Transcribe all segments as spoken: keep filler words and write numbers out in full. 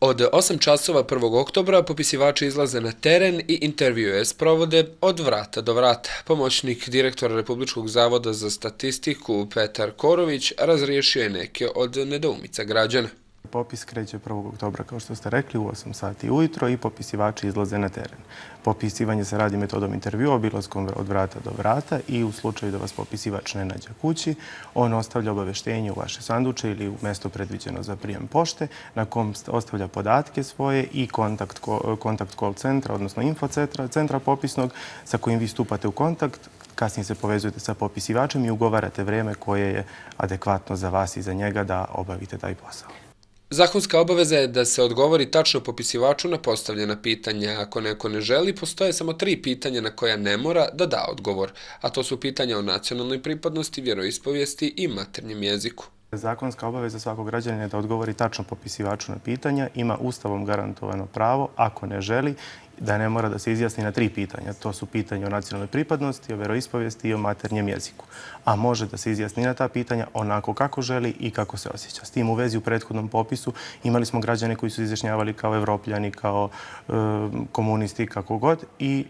Od osam časova prvog oktobra popisivači izlaze na teren i intervjue sprovode od vrata do vrata. Pomoćnik direktora Republičkog zavoda za statistiku Petar Korović razriješio je neke od nedoumica građana. Popis kreće prvog oktobra, kao što ste rekli, u osam sati ujutro i popisivači izlaze na teren. Popisivanje se radi metodom intervjua, obilaskom od vrata do vrata i u slučaju da vas popisivač ne nađe kući, on ostavlja obaveštenje u vaše sanduče ili u mesto predviđeno za prijem pošte, na kom ostavlja podatke svoje i kontakt, kontakt call centra, odnosno info centra, centra popisnog sa kojim vi stupate u kontakt. Kasnije se povezujete sa popisivačem i ugovarate vreme koje je adekvatno za vas i za njega da obavite taj posao. Zakonska obaveza je da se odgovori tačno popisivaču na postavljena pitanja. Ako neko ne želi, postoje samo tri pitanja na koja ne mora da da odgovor, a to su pitanja o nacionalnoj pripadnosti, vjeroispovijesti i maternjem jeziku. Zakonska obaveza svakog građanina je da odgovori tačno popisivaču na pitanja, ima ustavom garantovano pravo, ako ne želi, da ne mora da se izjasni na tri pitanja. To su pitanja o nacionalnoj pripadnosti, o vjeroispovijesti i o maternjem jeziku. A može da se izjasni na ta pitanja onako kako želi i kako se osjeća. S tim u vezi u prethodnom popisu imali smo građane koji su izjašnjavali kao evropljani, kao e, komunisti, kako god, i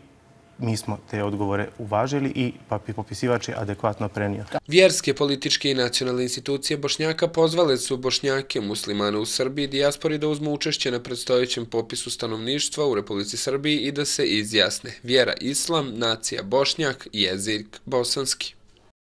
mi smo te odgovore uvažili i popisivač je adekvatno prenio. Vjerske, političke i nacionalne institucije Bošnjaka pozvale su Bošnjake, muslimane u Srbiji i dijaspori da uzmu učešće na predstojećem popisu stanovništva u Republici Srbiji i da se izjasne. Vjera islam, nacija Bošnjak, jezik bosanski.